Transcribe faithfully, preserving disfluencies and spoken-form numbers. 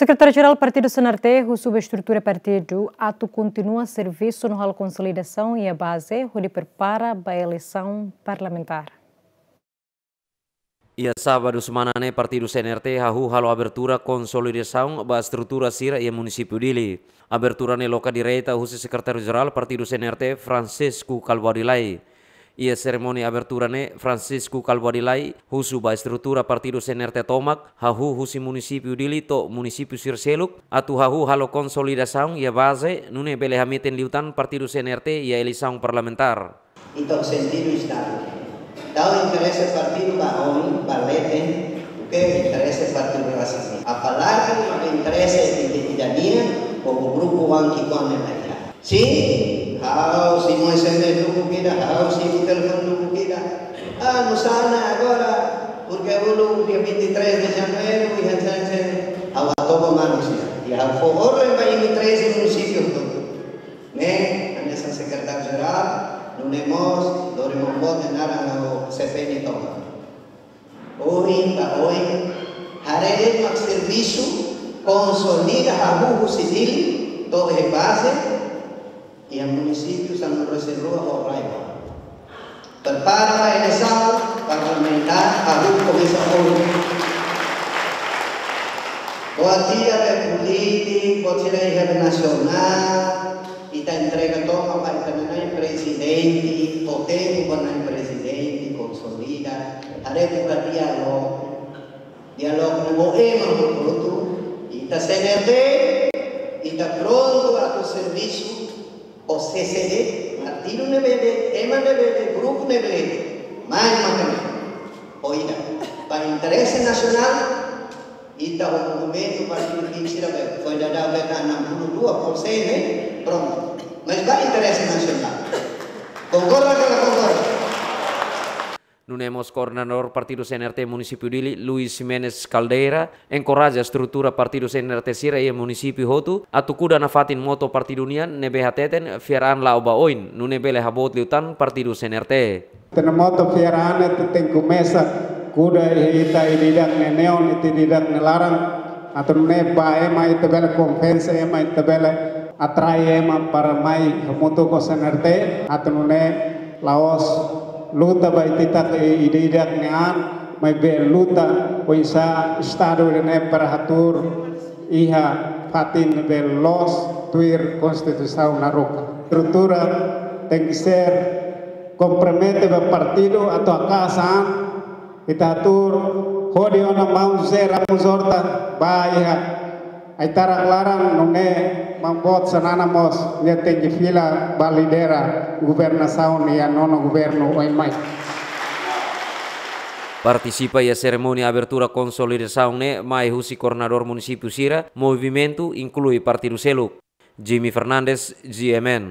Sekretáriu Jerál Partidu C N R T husu ba estrutura partidu atu kontinua servisu no halo konsolidasaun iha baze hodi prepara ba eleisaun parlamentár. Iha sábadu semana ne'e Partidu C N R T hahú halo abertura konsolidasaun ba estrutura sira iha munisípiu Dili. Abertura ne'e loke direta husi Sekretáriu Jerál Partidu C N R T, Francisco Kalbuadi Lay. Iha serimónia abertura ne'e, Francisco Kalbuadi Lay husu ba estrutura Partidu C N R T tomak, hahú husi munisípiu Dili to'o munisípiu sira seluk, atu hahú halo konsolidasaun iha baze, nune'e bele hametin liután Partidu C N R T iha eleisaun parlamentár. Entaun, sentidu Estadu. Tau interese partidu ba oin, ba leten, duké interese partidu rasik. Apalagi ba interese ida-idak nian, ho grupu oan ki'ikoan ne'ebé iha. Sin, ha'u simu S M S duku ida, ha'u simu telefone duku ida. Ah, nusá ona agora, porke uluk dia vinte e três de janeiro, iha janji, ha'u atu ba manusia. I ha'u fó ordem ba imi treze munisípiu hotu. Ne'e, hanesan Sekretáriu Jerál, nune'e mós, lori maun boot nia naran ho C P N tomak. Ohin ba oin, haree mak servisu, konsolida hahú husi Dili, to'o iha baze, iha munisípiu sanulu-resin-rua ho rai-barak. Prepara ba eleisaun parlamentár, hahú komesa ohin. Buat ida be polítiku, buat sira iha be nasionál, ita entrega tomak ba ita-nia na'in prezidente, ho tempu ba na'in prezidente, konsolida, haree buka diálogu. Diálogu ho ema hotu-hotu, ita C N R T, ita prontu atu servisu, ho C C D, partidu ne'ebé, ema ne'ebé, grupu ne'ebé, mai maka ne'e. Ho ida, ba interese nasionál, ita ho movimentu partidu ki'ik sira be, foin daudaun be ka enam puluh dua persen ne'e, prontu. Mas ba interese nasionál. Konkorda ka la konkorda? Nune'e mós koordenadór Partidu C N R T munisípiu Dili, Luis Ximenes Caldeira, enkoraja estrutura Partidu C N R T sira iha munisípiu hotu, atu kuda nafatin moto partidu nian ne'ebé hateten fiar an la'o ba oin, nune'e bele haboot liután Partidu C N R T. Ita-nia moto fiar an ne'e ita tenke komesa kuda iha ita ida-idak nia neon, ita ida-idak nia laran, atu nune'e ba ema ita bele konvense, ema ita bele atrai ema para mai hamutuk ho C N R T, atu nune'e la'ós luta ba ita-idak ida-idak nia an, maibé luta oinsá Estadu ida-ne'e para hatuur iha fatin ne'ebé loos tuir Konstituisaun Naroca. Estrutura tenke ser kompromete ba partidu atu haka'as an, ita hatuur hodi ona maun José Ramos Horta ba iha Aitarak laran, nune'e maun boot Xanana mós nia tenke fila ba lidera governasaun iha nonu governu oin mai. Partisipa iha serimónia abertura konsolidasaun ne'e mai husi koordenadór munisípiu sira, movimentu, inklui partidu seluk. Jimmy Fernandes, G M N.